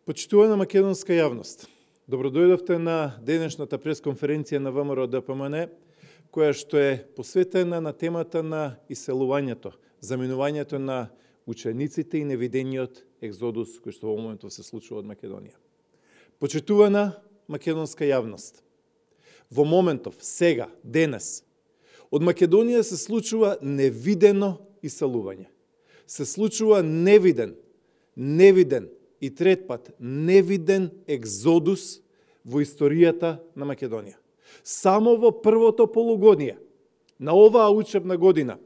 Почитувана македонска јавност, добродојдовте на денешната пресконференција на ВМРО ДПМН, која што е посветена на темата на иселувањето, заминувањето на учениците и невидениот екзодус кој што во моментов се случува од Македонија. Почитувана македонска јавност, во моментов, сега, денес, од Македонија се случува невидено иселување. Се случува невиден и трет пат невиден екзодус во историјата на Македонија. Само во првото полугодие на оваа учебна година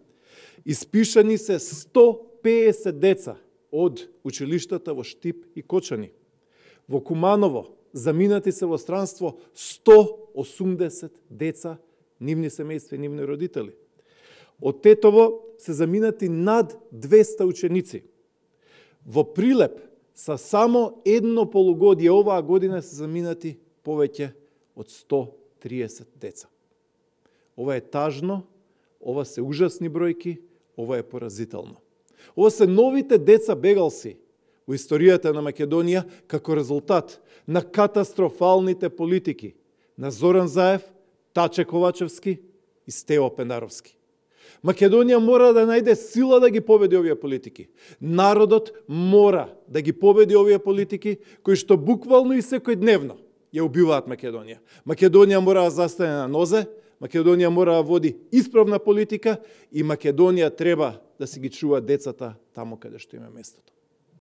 испишани се 150 деца од училиштата во Штип и Кочани. Во Куманово заминати се во странство 180 деца, нивни семејства и нивни родители. Од Тетово се заминати над 200 ученици. Во Прилеп са само едно полугодие оваа година се заминати повеќе од 130 деца. Ова е тажно, ова се ужасни бројки, ова е поразително. Ова се новите деца бегалци во историјата на Македонија како резултат на катастрофалните политики на Зоран Заев, Таче Ковачевски и Стево Пенаровски. Македонија мора да најде сила да ги победи овие политики. Народот мора да ги победи овие политики кои што буквално и секојдневно ја убиваат Македонија. Македонија мора да застане на нозе, Македонија мора да води исправна политика и Македонија треба да си ги чува децата таму каде што им е местото.